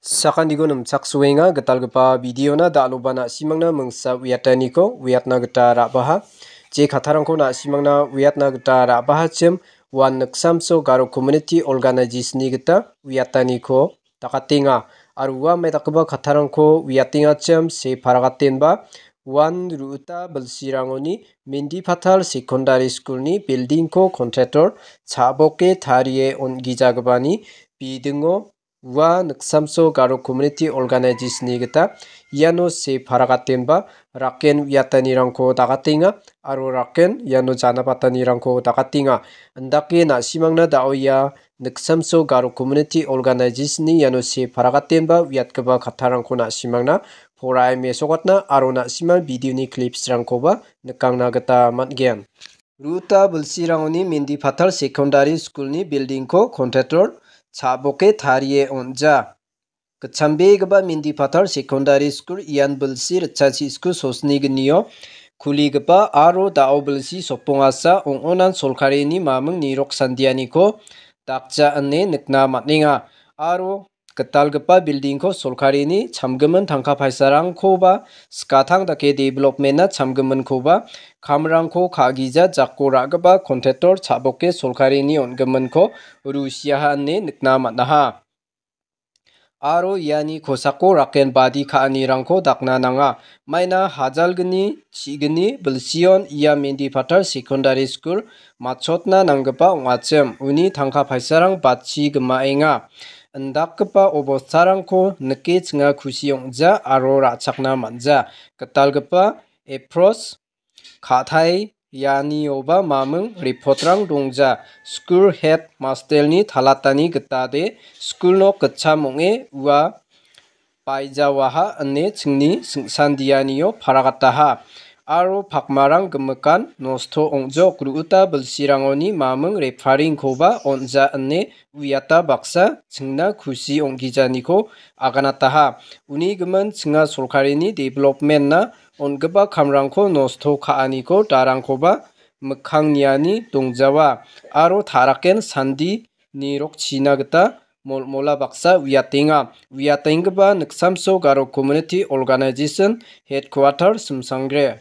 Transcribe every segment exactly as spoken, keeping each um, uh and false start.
Sakantigo nimchaksoenga gitalgipa videona da·aloba na·simangna mingsa uiataniko uiatna gita ra·baha. Je kattarangko na·simangna uiatna gita ra·bahachim, uan Niksamso Garo Community Organization-ni gita uiataniko dakatenga. Aro ua maidakgipa kattarangko uiatengachim se paragatenba uan Ruta Bilsirangoni Mendi Pathal Secondary School-ni building-ko contractor cha·boke tarie on·gijagipani bidingo ua Niksamso Garo Community Organization-ni gita iano se paragatenba raken uiatanirangko dakatenga aro raken iano janabatanirangko dakatenga. Indake na·simangna da·o ia Niksamso Garo Community Organization-ni iano se paragatenba uiatgipa kattarangko na·simangna porae mesokatna aro na·simang video-ni clips-rangkoba nikangna gita man·gen. Ruta Bilsirangoni Mendi Pathal Secondary School-ni building-ko contractor cha·boke tarie on·ja. Gitchambegipa Mendi Pathal Secondary School ian bilsi ritchasi sku sosni gnio kuligipa aro da·o bilsi sopongasa ong·onan solkarini maming nirok sandianiko dakja ine nikna man·enga. Aro gitalgipa building-ko solkarini chamgimin tangka paisarangkoba skatang dake development-na chamgiminkoba kamrangko ka·gija jako ra·gipa contractor cha·boke solkarini on·giminko rusiaha ine nikna man·aha. Aro iani kosako raken badi ka·anirangko dakna nanga. Maina hajalgni, chigni bilsion ia Mendi Pathal Secondary School matchotna nanggipa ong·achim, uni tangka paisarang batchi gimaenga. Indakgipa obostarangko nike chinga kusi ong·ja aro ra·chakna man·ja. Gitalgipa approach ka·tai ianioba maming report-rang dongja. School head master-ni talatani gitade school nok gitcham ong·e ua baijawaha ine chingni singsandianio paragataha. Aro pakmarang gimikan nosto ong·jok. Ruta bilsirangoni maming reparing-koba on·ja ine uiata baksa chingna kusi ong·gijaniko aganataha. Uni gimin chinga solkarini development-na on·gipa kamrangko nosto ka·aniko darangkoba mikkang niani dongjawa aro taraken sandi nirokchina gita molmola baksa uiatenga. Uiatenggipa Niksamso Garo Community Organization Headquarter Simsangre.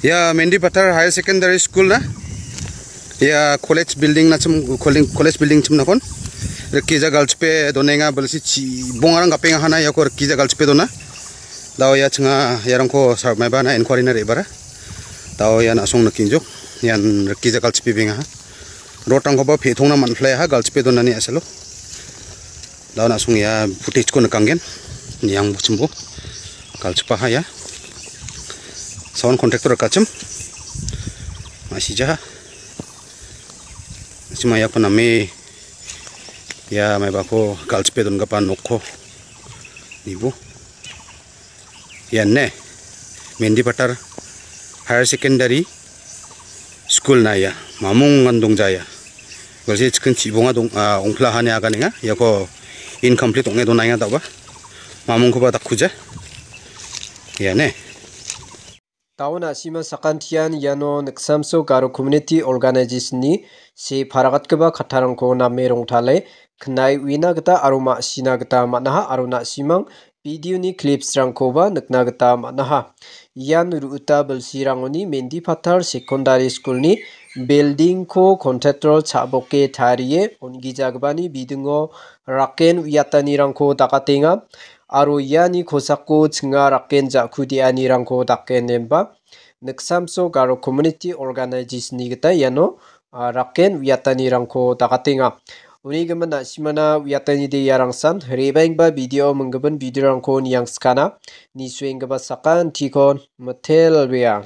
Ia Mendi Pathar Higher Secondary School na. Ia college building na chim, college, college building chim nakon. Rikija galchipe donenga balsi chibongarang gapenga hana iako rikija galchipe dona. Dao ia chinga iarangko sarmaiba na inquiry na rebara. Dao ia nasong nakinjok. Ian rikija galchipe benga ha. Rod-rangkoba pe·tongna man·plaiaha, galchipe donani a·salo. Da·o na·song ia footage-ko nikanggen. Niang bochimbo. Galchipaha ia. Sound contractor rikachim. Ma·sijaha. Sima iako name ia maibako galchipe dongipa nokko nibo. Ian ne, Mendipathar Higher Secondary School-na ia, Mamungan dongja ia. Galsi chicken chibonga dong-, ah, ongpla hani aganenga. Iako incomplete ong·e donaenga da·oba. Mamungkoba dakkuja. Ia ne. Da·o na·sima sakantian iano Niksamso Garo Community Organization-ni se paragatgipa kattarangko name rongtale knai uina gita aro ma·sina gita man·aha aro na·simang video-ni clips-rangkoba nikna gita man·aha. Ian ru·ita bilsirangoni Mendipathar Secondary School-ni building-ko contractor cha·boke tarie on·gijagipani bidingo raken uiatanirangko dakatenga. Aro iani kosako chinga raken ja·ku de·anirangko dakenenba Niksamso Garo Community Organization-ni gita iano, ah, raken uiatanirangko dakatenga. Uni gimin na·simana uiatanide iarangsan re·baenggipa video, minggipin video-rangko niangskana. Nisuenggipa sakantikon mitelbea.